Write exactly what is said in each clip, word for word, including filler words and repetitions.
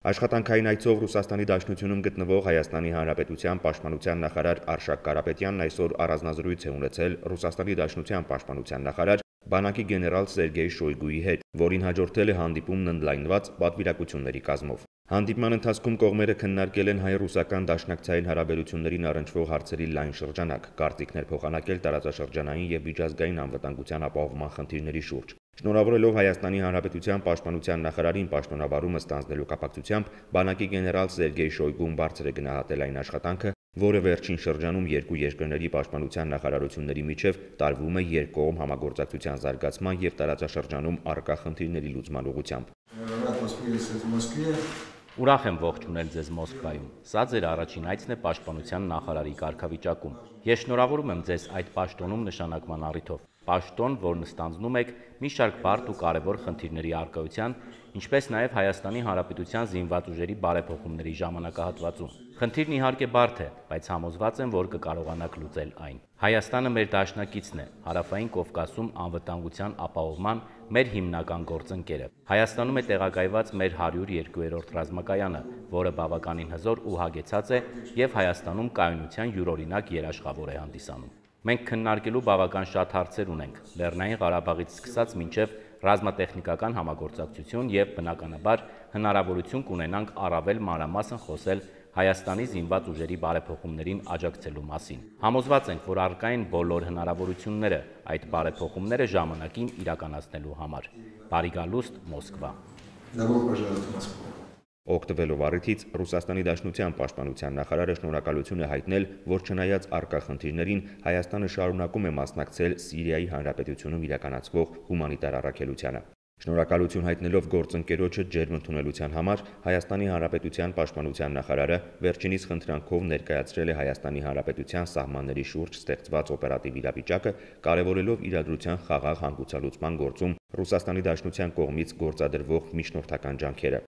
Աշխատանքային այցով Ռուսաստանի Դաշնությունում գտնվող Հայաստանի Հանրապետության Պաշտպանության նախարար Արշակ Կարապետյանն այսօր առանձնազրույց է ունեցել Ռուսաստանի Դաշնության Պաշտպանության նախարար բանակի գեներալ Սերգեյ Շոյգուի հետ, որին հաջորդել է հանդիպումն ընդլայնված պատվիրակությունների կազմով։ Հանդիպման ընթացքում կողմերը քննարկել են հայ-ռուսական դաշնակցային հարաբերություններին առնչվող հարցերի լայն շրջանակ, կարծիքներ փոխանակել տարածաշրջանային եւ միջազգային անվտանգության ապահովման խնդիրների շուրջ։ Շնորհավորելով Հայաստանի Հանրապետության Պաշտպանության նախարարին պաշտոնավարումը ստանձնելու կապակցությամբ բանակի գեներալ Սերգեյ Շոյգուն բարձր է գնահատել այն աշխատանքը, որը վերջին շրջանում երկու երկրների պաշտպանության նախարարությունների միջև տարվում է երկկողմ համագործակցության զարգացման եւ տարածաշրջանում առկա խնդիրների լուծման ուղղությամբ։ Ուրախ եմ ողջունել ձեզ Մոսկվայում։ Սա ձեր առաջին այցն է պաշտպանության նախարարի կարգավիճակում։ Ես շնորհավորում եմ ձեզ այդ պաշտոնում նշանակման առիթով։ Պաշտոն, որն ստանձնում եք մի շարք բարդ ու կարևոր խնդիրների առկայության, ինչպես նաև Հայաստանի Հանրապետության զինված ուժերի բարեփոխումների ժամանակահատվածում։ Խնդիրն իհարկե բարդ է, բայց համոզված եմ, որ կկարողանաք լուծել այն։ Հայաստանը մեր դաշնակիցն է, Հարավային Կովկասում անվտանգության ապահովման մեր հիմնական գործընկերը։ Հայաստանում է տեղակայված մեր հարյուր երկրորդ ռազմակայանը, որը բավականին հզոր ու հագեցած է եւ Հայաստանում կայունության յուրօրինակ երաշխավոր է հանդիսանում։ Մենք քննարկելու բավական շատ հարցեր ունենք, Լեռնային Ղարաբաղից սկսած մինչև ռազմատեխնիկական համագործակցություն եւ բնականաբար հնարավորություն կունենանք առավել մանրամասն խոսել Հայաստանի զինված ուժերի բարեփոխումներին աջակցելու մասին։ Համոզված ենք, որ առկա են բոլոր հնարավորությունները այդ բարեփոխումները ժամանակին իրականացնելու համար։ Բարի գալուստ Մոսկվա։ Օգտվելով առիթից Ռուսաստանի Դաշնության Պաշտպանության նախարարը շնորհակալություն է հայտնել, որ չնայած առկա խնդիրներին Հայաստանը շարունակում է մասնակցել Սիրիայի Հանրապետությունում իրականացվող հումանիտար առաքելությանը։ Շնորհակալություն հայտնելով գործընկերոջը ջերմ ընդունելության համար Հայաստանի Հանրապետության Պաշտպանության նախարարը վերջինիս խնդրանքով ներկայացրել է Հայաստանի Հանրապետության սահմանների շուրջ ստեղծված օպերատիվ իրավիճակը, կարևորելով իրադրության խաղաղ հանգուցալուծման գործում Ռուսաստանի Դաշնության կողմից գործադրվող միջնորդական ջանքերը։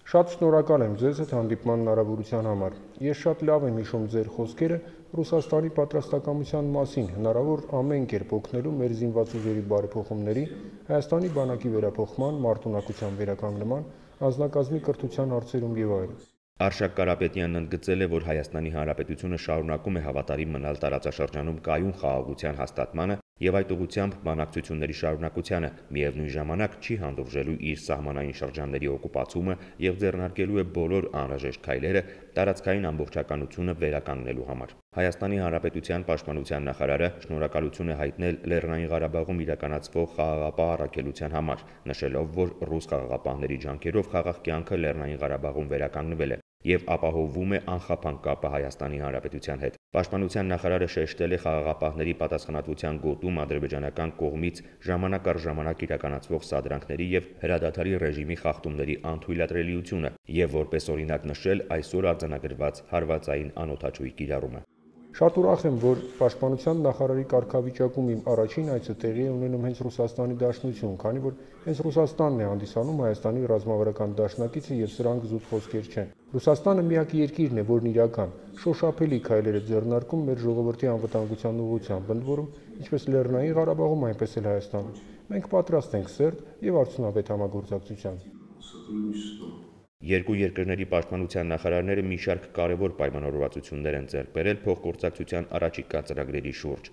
Շատ շնորհակալ եմ ձեզ հետ հանդիպման հնարավորության համար։ Ես շատ լավ եմ հիշում ձեր խոսքերը Ռուսաստանի պատրաստակամության մասին, հնարավոր ամեն կերպ օգնելու մեր զինված ուժերի բարեփոխումների, Հայաստանի բանակի վերափոխման, մարտունակության վերականգնման, անձնակազմի կրթության հարցերում եւ այլն։ Արշակ Կարապետյանն ընդգծել է, որ Հայաստանի Հանրապետությունը շարունակում է հավատարիմ մնալ տարածաշրջանում կայուն խաղաղության հաստատմանը եւ այդ ուղղությամբ բանակցությունների շարունակությանը, միևնույն ժամանակ չի հանդուրժելու իր սահմանային շրջանների օկուպացումը եւ ձեռնարկելու է բոլոր անհրաժեշտ քայլերը տարածքային ամբողջականությունը վերականգնելու համար։ Հայաստանի Հանրապետության Պաշտպանության նախարարը շնորհակալություն է հայտնել Լեռնային Ղարաբաղում իրականացվող խաղաղապահ առաքելության համար, նշելով, որ ռուս խաղաղապահների ջանքերով խաղաղ կյանքը Լեռնային Ղարաբաղում վերականգնվել է եւ ապահովվում է անխափան կապը Հայաստանի Հանրապետության հետ։ Պաշտպանության նախարարը շեշտել է խաղաղապահների պատասխանատվության գոտում ադրբեջանական կողմից ժամանակ առ ժամանակ իրականացվող սադրանքների եւ հրադադարի ռեժիմի խախտումների անթույլատրելիությունը եւ որպես օրինակ նշել այսօր արձանագրված հարվածային անօդաչուի կիրառումը։ Շատ ուրախ եմ, որ Պաշտպանության նախարարի կարգավիճակում իմ առաջին այցը տեղի է ունենում հենց Ռուսաստանի Դաշնություն, քանի որ հենց Ռուսաստանն է հանդիսանում Հայաստանի ռազմավարական դաշնակիցը եւ սրանք զուտ խոսքեր չեն։ Ռուսաստանը միակ երկիրն է, որն իրական շոշափելի քայլեր է ձեռնարկում մեր ժողովրդի անվտանգության ուղղությամբ, ընդ որում ինչպես Լեռնային Ղարաբաղում, այնպես էլ Հայաստանում։ Մենք պատրաստ ենք սերտ եւ արդյունավետ համագործակցության։ Երկու երկրների պաշտպանության նախարարները մի շարք կարևոր պայմանավորվածություններ են ձեռք բերել փոխգործակցության առաջիկա ծրագրերի շուրջ։